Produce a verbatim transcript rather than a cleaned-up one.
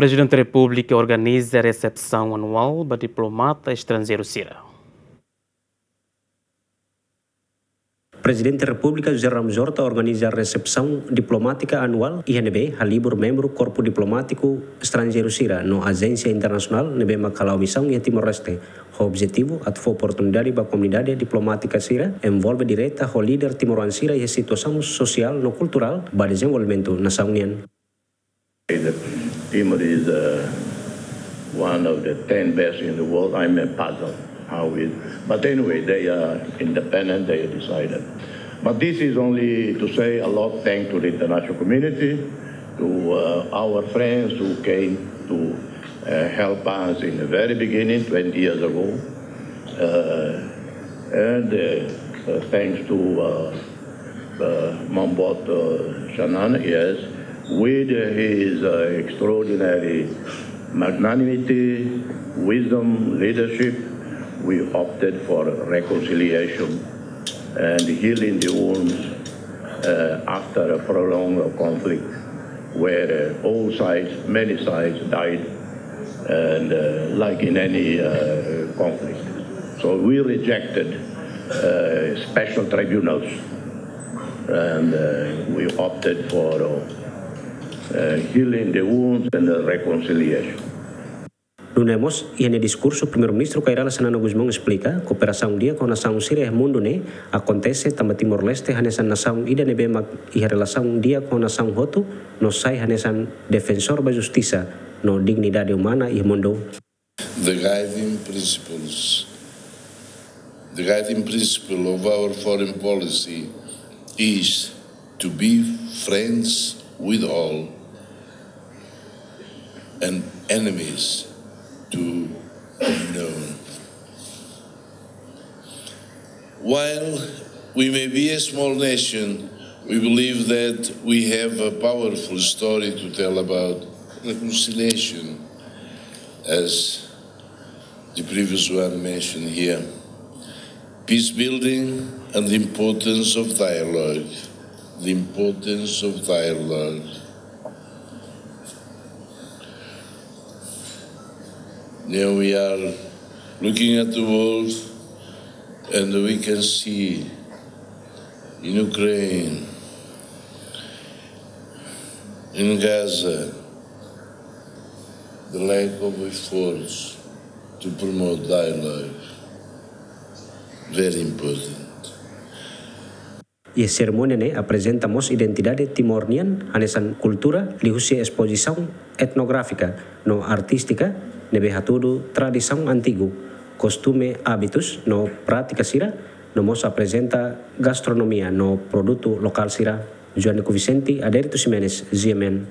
Prezidente Repúblika organiza resepsaun anuál ba diplomata estranjeiru sira. Prezidente Repúblika José Ramos Horta organiza resepsaun diplomátika anuál iha ne'ebé halibur membru korpu diplomátiku estranjeiru sira no ajénsia internasionál ne'ebé mak hala'o misaun iha Timor-Leste. Ho objetivu atu fó oportunidade ba komunidade diplomátika sira envolve direta ho líder timoroan sira iha situasaun sosiál no kulturál ba dezenvolvimentu nasaun nian. Timor is uh, one of the ten best in the world. I'm a puzzle how it. But anyway, they are independent. They decided. But this is only to say a lot thanks to the international community, to uh, our friends who came to uh, help us in the very beginning, twenty years ago, uh, and uh, uh, thanks to uh, uh, Mambot uh, Xanana, yes, with his uh, extraordinary magnanimity, wisdom, leadership, we opted for reconciliation and healing the wounds uh, after a prolonged conflict where uh, all sides, many sides died, and uh, like in any uh, conflict. So we rejected uh, special tribunals and uh, we opted for uh, uh, healing the wounds and the reconciliation. Nune'e mós, iha nia diskursu, Primeiru-Ministru Kay Rala Xanana Gusmão esplika, kooperasaun di'ak ho nasaun sira iha mundu ne'e akontese tanba Timor-Leste hanesan nasaun ida ne'ebé mak iha relasaun di'ak ho nasaun hotu, no sai hanesan defensór ba justisa no dignidade umana iha mundu. The guiding principles, the guiding principle of our foreign policy is to be friends with all and enemies to none. While we may be a small nation, we believe that we have a powerful story to tell about reconciliation, as the previous one mentioned here. Peace building and the importance of dialogue. The importance of dialogue. Now we are looking at the world and we can see in Ukraine, in Gaza, the lack of efforts to promote dialogue. Very important. Iha serimónia ne'e aprezenta mós identidade Timor nian hanesan kultura liuhusi espozisaun etnográfika no artístika ne'ebé hatudu tradisaun antigu, kostume, hábitus no prátika sira, no mós aprezenta gastronomia no produtu lokál sira. Joanico Vicente, Adérito Ximenes, G M N.